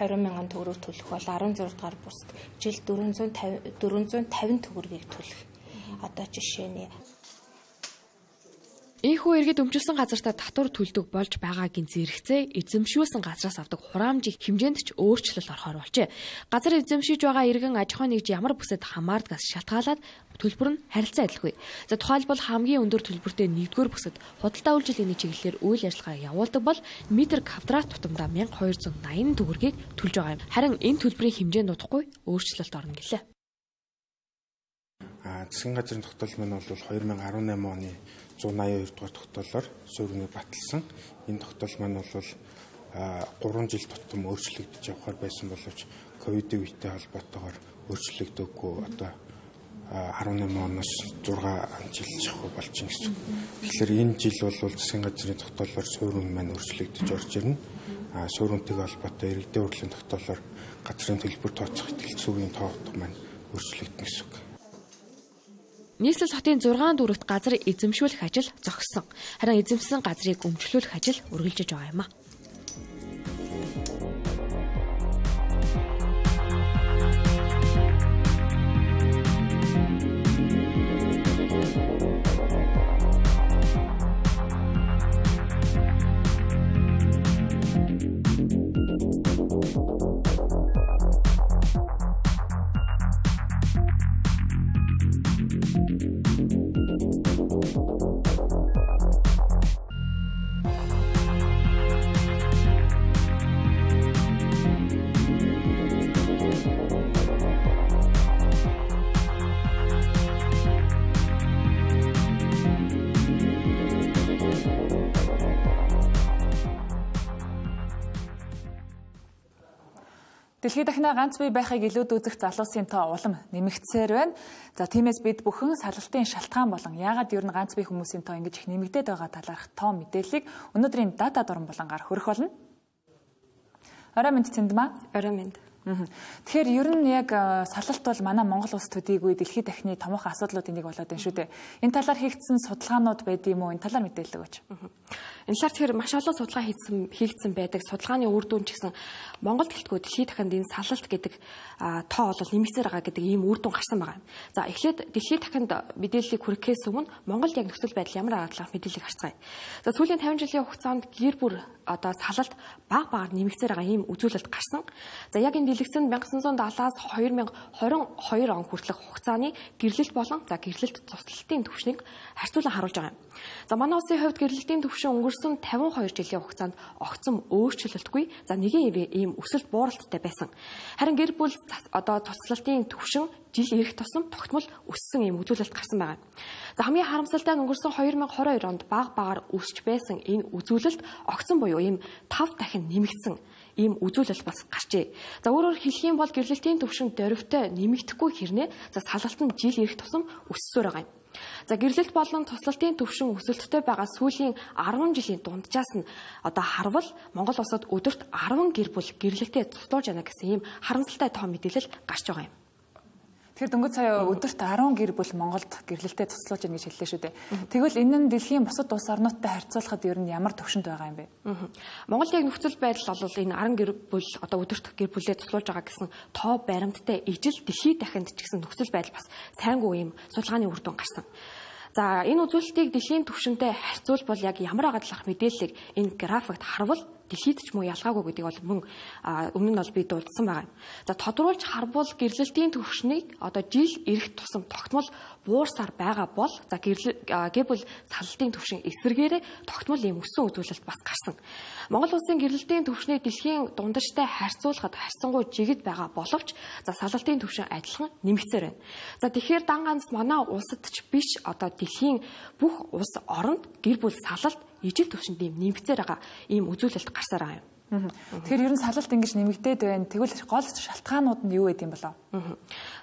20,000 төгрөг төлөх бол 16 дугаар бүсд жил 450 төгрөгийг төлөх. Одоо жишээний Ийхүү иргэд өмчилсөн газартаа татвар төлдөг болж байгаагийн зэрэгцээ эзэмшүүлсэн газраас авдаг хураамжийн хэмжээнд ч өөрчлөлт орохоор болжээ. Газар эзэмшиж байгаа иргэн аж ахуйн нэгж ямар бүсэд хамаардгаас шалтгаалаад төлбөр нь харилцан адилгүй. За тухайлбал хамгийн өндөр төлбөртэй 1-р бүсэд худалдаа үйлчилгээний чиглэлээр үйл ажиллагаа явуулдаг бол метр квадрат тутамдаа 1280 төгрөгийг төлж байгаа юм. Харин энэ төлбөрийн хэмжээ нутахгүй өөрчлөлт орно гэлээ. Засгийн газрын тогтоол маань бол 2018 оны 182 дугаар тогтоолоор суурьныг баталсан. Энэ тогтоол маань бол 3 жил тутам өөрчлөгдөж явахаар байсан боловч ковидын үетэй холбоотойгоор өөрчлөгдөөгүй одоо 18 оноос 6 жил шахуу болж байна гэсэн. Тэгэхээр энэ жил бол засгийн газрын тогтоолоор суурин маань өөрчлөгдөж орж ирнэ. Сууринтэйгээ холбоотой иргэдийн урлагийн тогтоолоор газрын төлбөр тооцох ихтгэлцүүгийн тоотго маань өөрчлөгдөн гэсэн үг. Нийслэл хотын 6 дүрэгт газар эзэмшүүлэх ажил зогссон. Харин эзэмсэн газрыг өмчлүүлэх ажил үргэлжлэж байгаа юм а. Дэлхийд дахина ганц бие байхыг илүүд үзэх залуусын тоо улам нэмэгдсээр байна. За тиймээс бид бүхэн салалтын шалтгаан болон яагаад ер нь ганц бие хүмүүсийн тоо ингэж их нэмэгдээд байгаа талаарх тоо мэдээллийг өнөөдрийн дата дуран болонгаар хөрөх болно. Орой минь Цэндмаа. Орой минь. Тэгэхээр ер нь яг салалт бол манай Монгол улс төдийгүй дэлхийд дахины томоохон асуудлуудын нэг болоод байна шүү дээ. Энэ талаар хийгдсэн судалгаанууд байд юм уу? Энэ талаар мэдээлэл өгөөч. Энэ талаар тэгэхээр маш олон судалгаа хийгдсэн байдаг. Судалгааны үр дүн ч гэсэн Монгол гэлтгүй дэлхийд дахинд энэ салалт гэдэг тоо бол нэмэгдсээр байгаа гэдэг ийм үр дүн гарсан байгаа. За эхлээд дэлхийд дахинд мэдээллийг хүрэхээс өмнө Монголд яг нөхцөл байдал ямар байгаа талаар мэдээлэл гарцгаая. За сүүлийн 50 жилийн хугацаанд гэр бүл одоо салалт баг багаар нэмэгдсээр байгаа ийм үзүүлэлт гарсан. За яг энэ дэлгэцэн 1970-аас 2022 он хүртэлх хугацааны гэрлэлт болон гэрлэлт цуслалтын түвшнийг харьцуулан харуулж байгаа юм. За манай улсын хувьд гэрлэлтийн түвшин өнгөрсөн 52 жилийн хугацаанд огцом өөрчлөлтгүй нэгэн ийм өсөлт бууралттай байсан. Харин гэр бүл одоо цуслалтын түвшин жил ирэх тусам тогтмол өссөн ийм үзүүлэлт гарсан байна. За хамгийн харамсалтай нь өнгөрсөн 2022 онд баг багаар өсч байсан энэ үзүүлэлт огцом буюу ийм 5 дахин нэмэгдсэн ийм үзүүлэлт бас гарчээ. За өөрөөр хэлэх юм бол гэрлэлтийн түвшин дөрвтэй нэмэгдэхгүй хэрнээ салалт нь жил ирэх тусам өссөөр байгаа юм. За гэрлэлт болон туслалтын түвшин өсөлттэй байгаа сүүлийн 10 жилийн дунджаас нь одоо харвал Монгол улсад өдөрт 10 гэр бүл гэрлэлтэд цуслуулж байна гэсэн ийм харамсалтай тоо мэдээлэл гарч байгаа юм. Тэгэхээр дөнгөж сая өдөрт 10 гэр бүл Монголд гэрлэлтэд цуслуулж байна гэж хэллээ шүү дээ. Тэгвэл энэ нь дэлхийн бусад улс орнуудтай харьцуулахад ер нь ямар төвшөнд байгаа юм бэ? Монголын яг нөхцөл байдал бол энэ 10 гэр бүл одоо өдөрт гэр бүлээ цуслуулж байгаа гэсэн тоо баримттай ижил дэлхийд дахинд ч гэсэн нөхцөл байдал бас сайнгүй юм судалгааны үр дүн гарсан. За энэ үзүүлэлтийг дэлхийн түвшинтэй харьцуулбал яг ямар байгаа талаарх мэдээллийг энэ графикт харвал дэлхийд ч мөн ялгаагүй гэдгийг бол мөн өмнө нь бол би дурдсан байгаа юм. За тодруулж харбал гэрлэлтийн түвшнийг одоо жил ирэх тусам тогтмол буурсаар байгаа бол за гэр бүл салалтын түвшин эсэргээрээ тогтмол ийм өссөн үзүүлэлт бас гарсан. Монгол улсын гэрлэлтийн түвшнийг дэлхийн дундажтай харьцуулахад харьцангуй жигд байгаа боловч за салалтын түвшин адилхан нэмэгцээр байна. За тэгэхээр дан ганц манай улсад ч биш одоо дэлхийн бүх улс оронд гэр бүл салалт ижил түвшинд нэмэгцээр байгаа ийм үзүүлэлт гарсаар байгаа юм. Тэгэхээр ер нь салалт ингэж нэмэгдээд байна. Тэгвэл гол шалтгаанууд нь юу гэдэг юм болов?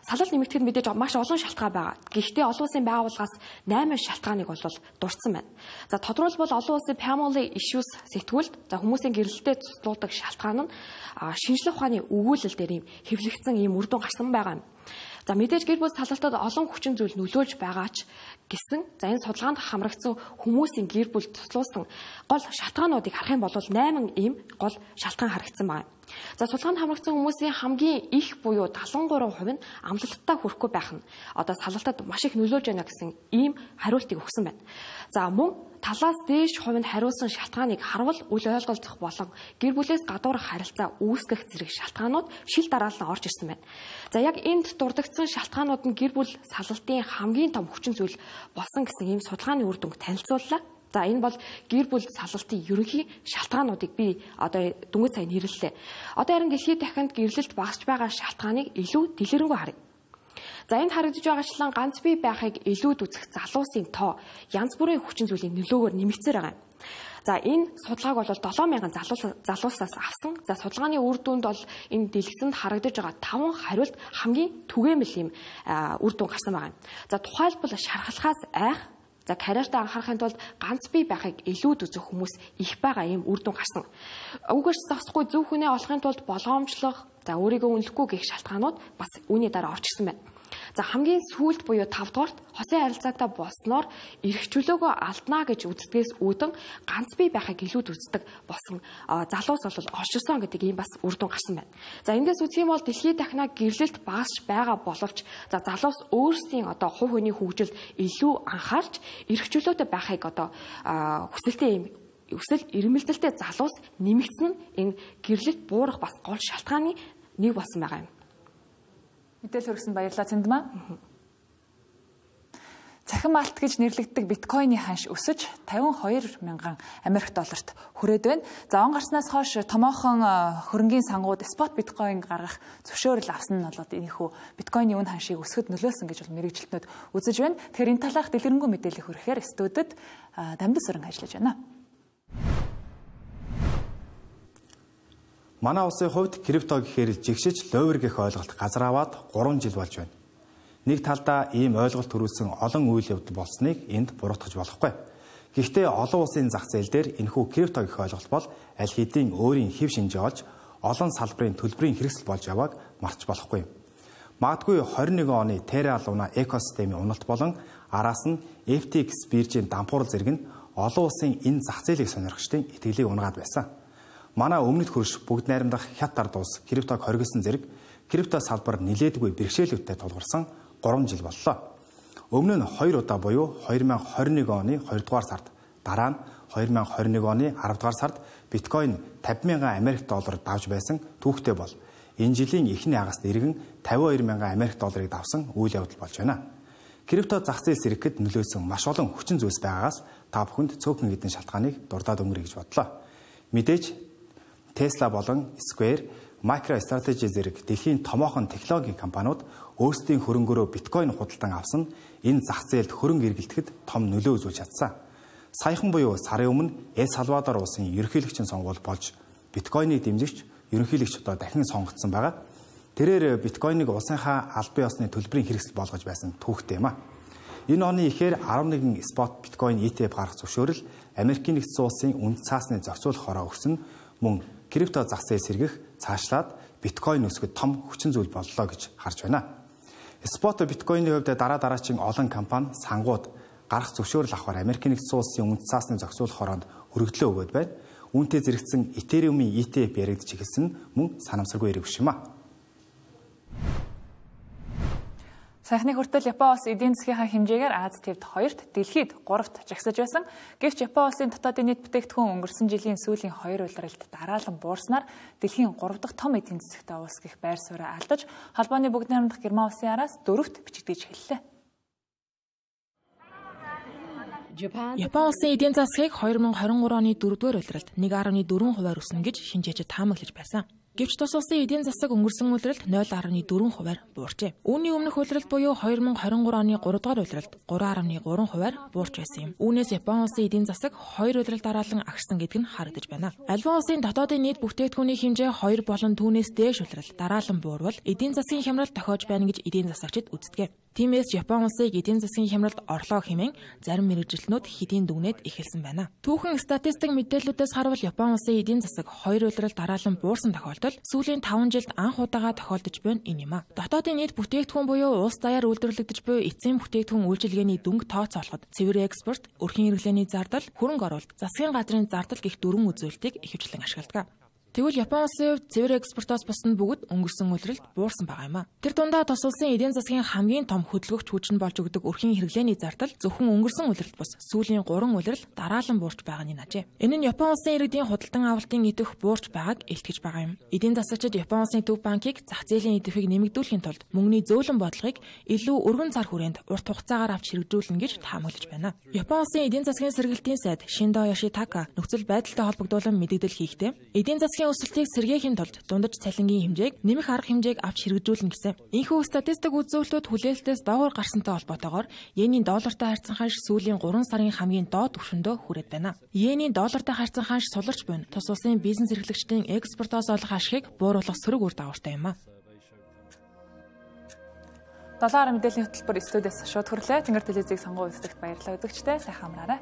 Салалт нэмэгдэхэд мэдээж маш олон шалтгаан байгаа. Гэхдээ олон улсын байгууллагаас 8 шалтгааныг бол дурдсан байна. За тодорхойлбол олон улсын family issues сэтгүүлд за хүмүүсийн гэрэлтэд цуглуулдаг шалтгаан нь шинжлэх ухааны өгүүлэл дээр ийм хэвлэгдсэн ийм үр дүн гарсан байгаа юм. За мэдээж гэр бүл салалтад олон хүчин зүйл нөлөөлж байгаа ч гэсэн за энэ судалгаанд хамрагдсан хүмүүсийн гэр бүл цуглуулсан гол шалтгаануудыг харах юм бол 8 ийм гол шалтгаан харагдсан байна. За судалгаанд хамрагдсан хүмүүсийн хамгийн их буюу 73% нь амлалттай хүрэхгүй байх нь одоо салалтад маш их нөлөөлж байна гэсэн ийм хариултыг өгсөн байна. За мөн талаас дээш хувинд хариулсан шалтгааныг харвал үл ойлголцох болон гэр бүлээс гадуурх харилцаа үүсгэх зэрэг шалтгаанууд шил дараалан орж ирсэн байна. За яг энд дурддагдсан шалтгаанууд нь гэр бүл салалтын хамгийн том хүчин зүйл болсон гэсэн ийм судалгааны үр дүнг танилцууллаа. За энэ бол гэр бүл салалтын ерөнхий шалтгаануудыг би одоо дөнгөж сайн нэрлэлээ. Одоо харин дэлхийд дахинд гэрлэлт багасч байгаа шалтгааныг илүү дэлгэрэнгүй харъя. За энд харагдаж байгаачлан ганц бие байхыг илүүд үзэх залуусын тоо янз бүрийн хүчин зүйлийн нөлөөгөөр нэмэгцээр байгаа юм. За энэ судалгааг бол 7000 залуусаас авсан. За судалгааны үр дүнд бол энэ дэлгэцэнд харагдаж байгаа 5 хариулт хамгийн түгээмэл юм үр дүн гарсан байгаа юм. За тухайлбал шархалхаас айх за карьертаа анхаарахын тулд ганц бие байхыг илүүд үзэх хүмүүс их байгаа ийм үр дүн гарсан. Үгээрч зогсохгүй зөв хүнээ олохын тулд болгоомжлох, за өөрийгөө үнэлэхгүй гэх шалтгаанууд бас үүний дараа орж ирсэн байна. За хамгийн сүүлд буюу 5 дугаарт хосын харилцаатай болсноор эрх чөлөөгөө алднаа гэж үздэгээс үүдэн ганц бие байхыг илүүд үздэг болсон залуус бол орширсон гэдэг ийм бас үр дүн гарсан байна. За эндээс үзэх юм бол дэлхийд дахинаа гэрлэлт багасч байгаа боловч за залуус өөрсдийн одоо хувь хүний хөгжилд илүү анхаарч эрх чөлөөтэй байхыг одоо хүсэлтэй өсөл ирмэлзэлтэй залуус нэмэгдсэн нь энэ гэрлэлт буурах бас гол шалтгааны нэг болсон байгаа юм. Мэдээлэл хүргэсэн баярлалаа Цэндмаа. Цахим алт гэж нэрлэгддэг биткойны ханш өсөж 52 мянган Америк долларт хүрээд байна. За он гарснаас хойш томоохон хөрөнгийн сангууд спот биткойн гаргах зөвшөөрөл авсан нь болоод энэхүү биткойны үн ханшийг өсгөхөд нөлөөлсөн гэж мэрэгжилтнүүд үзэж байна. Тэгэхээр энэ талаарх дэлгэрэнгүй мэдээлэл хүргэхээр студид Дамдас Сүрэн ажиллаж байна. Манай улсын хувьд крипто гэхээр жигшиж ловер гэх ойлголт газар аваад 3 жил болж байна. Нэг талдаа ийм ойлголт төрүүлсэн олон үйл явдал болсныг энд буруутгаж болохгүй. Гэхдээ олон улсын зах зээл дээр энэхүү крипто гэх ойлголт бол аль хэдийн өөрийн хэв шинжээ олж олон салбарын төлбөрийн хэрэгсэл болж явааг марч болохгүй. Магадгүй 21 оны Terra Luna экосистемийн уналт болон араас нь FTX биржийн дампуурал зэрэг нь олон улсын энэ зах зээлийг сонирхчдын итгэлийг унгаад байсан. Манай өмнөд хөрш бүгд найрамдах хят ард улс криптог хоригдсон зэрэг крипто салбар нилээдгүй бэрхшээлүүдтэй тулгарсан 3 жил боллоо. Өмнө нь 2 удаа буюу 2021 оны 2 дугаар сард, дараа нь 2021 оны 10 дугаар сард биткойн 50,000 Америк доллар давж байсан түүхтэй бол энэ жилийн эхний хагас иргэн 52,000 Америк долларыг давсан үйл явдал болж байна. Крипто зах зээл сэргэхэд нөлөөсөн маш олон хүчин зүйлс байгаагаас та бүхэнд цөөхөн хэдэн шалтгааныг дурдаад өнгөрье гэж бодлоо. Мэдээж Tesla болон Square, MicroStrategy зэрэг дэлхийн томоохон технологийн компаниуд өөрсдийн хөрөнгөөрөө биткойн худалдан авсан энэ зах зээлд хөрөнгө эргэлтэхэд том нөлөө үзүүлж чадсан. Саяхан буюу сарын өмнө Эл Салвадор улсын ерөнхийлөгчийн сонгуул болж биткойныг дэмжигч ерөнхийлөгч одоо дахин сонгогдсон байгаа. Тэрээр биткойныг улсынхаа албан ёсны төлбөрийн хэрэгсэл болгож байсан түүхтэй юм а. Энэ оны ихээр 11 спот биткойн ETF гаргах зөвшөөрөл Америкийн нэгдсэн улсын үнэт цаасны зохицуулах хороо өгсөн мөн крипто зах зээл сэргэх цаашлаад биткойн өсгөхөд том хүчин зүйл боллоо гэж харж байна. Спот биткойны хувьд дараагийн олон компани сангууд гарах зөвшөөрөл авахар Америкийн нэгдсэн улсын үнэт цаасны зохицуулах хороонд өргөдлөө өгöd байна. Үүнтэй зэрэгцэн Ethereum-ийн ETF яригдж эхэлсэн нь мөн санамсаргүй хэрэг биш юм а. Сайхны хүртэл Япон улс эдийн засгийнхаа хэмжээгээр Аз тивд 2-т, дэлхийд 3-т жагсаж байсан. Гэвч Япон улсын дотоодын нийт бүтээгдэхүүн өнгөрсөн жилийн сүүлийн 2 улиралд дараалан буурснаар дэлхийн 3 дахь том эдийн засагтай улс гэх байр сууриа алдаж, холбооны бүгд найрамдах Герман улсын араас 4-т бичигдэж эхэллээ. Япон улсын эдийн засгийг 2023 оны 4-р улиралд 1.4% өснө гэж шинжээчид таамаглаж байсан. Гэвч тус улсын эдийн засаг өнгөрсөн улиралд 0.4% буурчээ. Үүний өмнөх улиралд буюу 2023 оны 3-р улиралд 3.3% буурч байсан юм. Үүнээс Япон улсын эдийн засаг 2 улирал дараалан агшсан гэдэг нь харагдаж байна. Альбан улсын дотоодын нийт бүтээгдэхүүний хэмжээ 2 болон түүнээс дээш улирал дараалан буурвал эдийн засгийн хямрал тохиож байна гэж эдийн засагчид үздэг. Тиймээс Япон улсыг эдийн засгийн хямралд орлоо хэмээн зарим мэргэжилтнүүд хэдийн дүгнээд эхэлсэн байна. Түүхэн статистик мэдээллүүдээс харвал Япон улсын эдийн засаг 2 улирал дараалан буурсан тохиолдол сүүлийн 5 жилд анх удаага тохиолдож байна энэ юм а. Дотоодын нийт бүтээгдэхүүн буюу улс даяар үйлдвэрлэгдэж буй эцсийн бүтээгдэхүүн үйлчилгээний дүнг тооцоолоход цэвэр экспорт, өрхийн хэрэглээний зардал, хөрөнгө оруулалт, засгийн газрын зардал гэх дөрвөн үзүүлэлтийг ихэвчлэн ашигладаг. Тэгвэл Япон улсын хувьд цэвэр экспортоос бусна бүгд өнгөрсөн улиралд буурсан байгаа юм а. Тэр дундаа тус улсын эдийн засгийн хамгийн том хөдөлгөгч хүч нь болж өгдөг өрхийн хэрэглээний зардал зөвхөн өнгөрсөн улиралд бус сүүлийн 3 улирал дараалан буурч байгаа нь нажээ. Энэ нь Япон улсын иргэдийн худалдан авалтын идэх буурч байгааг илтгэж байгаа юм. Эдийн засагчид Япон улсын төв банкыг зах зээлийн идэвхийг нэмэгдүүлэхийн тулд мөнгөний зөөлөн бодлогыг илүү өргөн цар хүрээнд урт хугацаагаар авч хэрэгжүүлнэ гэж таамаглаж байна. Япон улсын эдийн засгийн сэргэлтийн сайд Шиндо Ёшитака нөхцөл байдалтай холбогдуулан мэдээлэл хийхдээ эдийн засгийн өсөлтийг сэргээхийн тулд дундаж цалингийн хэмжээг нэмэх арга хэмжээг авч хэрэгжүүлнэ гэсэн. Энэхүү статистик үзүүлэлтүүд хүлээлтээс доогуур гарсантай холбоотойгоор йений доллартай харьцан ханш сүүлийн 3 сарын хамгийн доод түвшиндөө хүрээд байна. Йений доллартай харьцан ханш суларч буйна. Тус улсын бизнес эрхлэгчдийн экспортоос олох ашигыг бууруулах сөрөг үр дагавартай юм а. 7 мэдээллийн хөтөлбөр студиэс шууд хүрлээ. Тэнгэр телевизийг сонгон үзэгт баярлалаа үзэгчдээ сайхан амраарай.